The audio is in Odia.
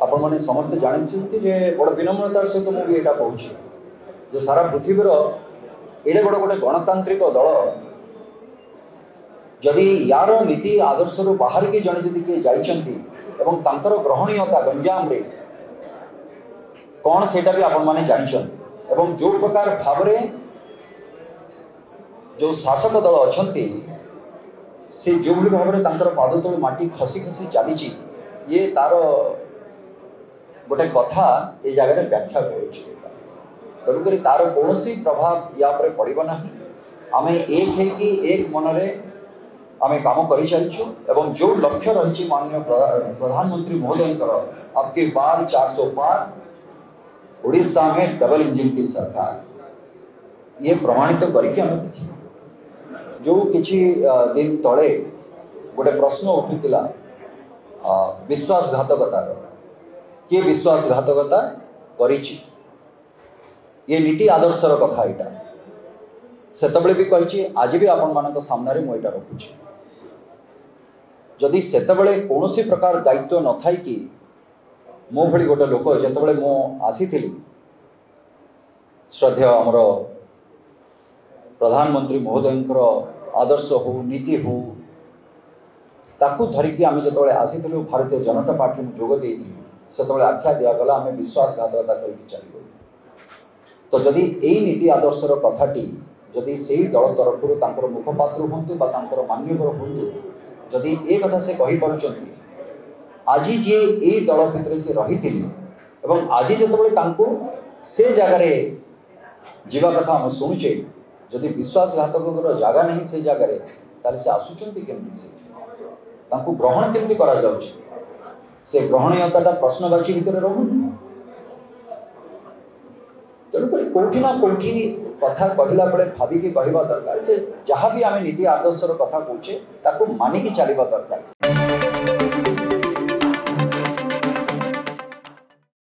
ଆପଣମାନେ ସମସ୍ତେ ଜାଣିଛନ୍ତି ଯେ ବଡ଼ ବିନମ୍ରତାର ସହିତ ମୁଁ ବି ଏଇଟା କହୁଛି ଯେ ସାରା ପୃଥିବୀର ଏଡ଼େ ବଡ଼ ଗୋଟେ ଗଣତାନ୍ତ୍ରିକ ଦଳ ଯଦି ୟାର ନୀତି ଆଦର୍ଶରୁ ବାହାରିକି ଜଣେ ଯଦି କିଏ ଯାଇଛନ୍ତି ଏବଂ ତାଙ୍କର ଗ୍ରହଣୀୟତା ଗଞ୍ଜାମରେ କ'ଣ ସେଇଟା ବି ଆପଣମାନେ ଜାଣିଛନ୍ତି। ଏବଂ ଯେଉଁ ପ୍ରକାର ଭାବରେ ଯେଉଁ ଶାସକ ଦଳ ଅଛନ୍ତି ସେ ଯେଉଁଭଳି ଭାବରେ ତାଙ୍କର ପାଦ ତଳୁ ମାଟି ଖସି ଖସି ଚାଲିଛି, ଇଏ ତାର ଗୋଟେ କଥା ଏ ଜାଗାରେ ବ୍ୟାଖ୍ୟା କରୁଛି। ତେଣୁକରି ତାର କୌଣସି ପ୍ରଭାବ ୟା ଉପରେ ପଡ଼ିବ ନାହିଁ। ଆମେ ଏକ ହେଇକି ଏକ ମନରେ ଆମେ କାମ କରିଚାଲିଛୁ ଏବଂ ଯେଉଁ ଲକ୍ଷ୍ୟ ରହିଛି ମାନନୀୟ ପ୍ରଧାନମନ୍ତ୍ରୀ ମହୋଦୟଙ୍କର अब की बार 400 पार, उड़ीसा में डबल इंजन की सरकार, ये प्रमाणित କରିକି ଆମେ ଦେଖିବା। ଯେଉଁ କିଛି ଦିନ ତଳେ ଗୋଟେ ପ୍ରଶ୍ନ ଉଠିଥିଲା ବିଶ୍ୱାସଘାତକତାର, କିଏ ବିଶ୍ୱାସଘାତକତା କରିଛି, ଇଏ ନୀତି ଆଦର୍ଶର କଥା। ଏଇଟା ସେତେବେଳେ ବି କହିଛି, ଆଜି ବି ଆପଣମାନଙ୍କ ସାମ୍ନାରେ ମୁଁ ଏଇଟା ରଖୁଛି। ଯଦି ସେତେବେଳେ କୌଣସି ପ୍ରକାର ଦାୟିତ୍ୱ ନଥାଇକି ମୋ ଭଳି ଗୋଟେ ଲୋକ, ଯେତେବେଳେ ମୁଁ ଆସିଥିଲି ଶ୍ରଦ୍ଧେୟ ଆମର ପ୍ରଧାନମନ୍ତ୍ରୀ ମହୋଦୟଙ୍କର ଆଦର୍ଶ ହଉ ନୀତି ହଉ ତାକୁ ଧରିକି ଆମେ ଯେତେବେଳେ ଆସିଥିଲୁ ଭାରତୀୟ ଜନତା ପାର୍ଟି ମୁଁ ଯୋଗ ଦେଇଥିଲି, ସେତେବେଳେ ଆଖ୍ୟା ଦିଆଗଲା ଆମେ ବିଶ୍ୱାସଘାତକତା କରିକି ଚାଲିଗଲୁ। ତ ଯଦି ଏଇ ନୀତି ଆଦର୍ଶର କଥାଟି ଯଦି ସେଇ ଦଳ ତରଫରୁ ତାଙ୍କର ମୁଖପାତ୍ର ହୁଅନ୍ତୁ ବା ତାଙ୍କର ମାନ୍ୟବର ହୁଅନ୍ତୁ, ଯଦି ଏ କଥା ସେ କହିପାରୁଛନ୍ତି, ଆଜି ଯିଏ ଏଇ ଦଳ ଭିତରେ ସେ ରହିଥିଲେ ଏବଂ ଆଜି ଯେତେବେଳେ ତାଙ୍କୁ ସେ ଜାଗାରେ ଯିବା କଥା ଆମେ ଶୁଣୁଛେ, ଯଦି ବିଶ୍ୱାସଘାତକଙ୍କର ଜାଗା ନାହିଁ ସେ ଜାଗାରେ, ତାହେଲେ ସେ ଆସୁଛନ୍ତି କେମିତି? ସେ ତାଙ୍କୁ ଗ୍ରହଣ କେମିତି କରାଯାଉଛି? ସେ ଗ୍ରହଣୀୟତାଟା ପ୍ରଶ୍ନବାଚୀ ଭିତରେ ରହୁନି। ତେଣୁକରି କୋଉଠି ନା କୋଉଠି କଥା କହିଲା ବେଳେ ଭାବିକି କହିବା ଦରକାର ଯେ ଯାହା ବି ଆମେ ନୀତି ଆଦର୍ଶର କଥା କହୁଛେ ତାକୁ ମାନିକି ଚାଲିବା ଦରକାର।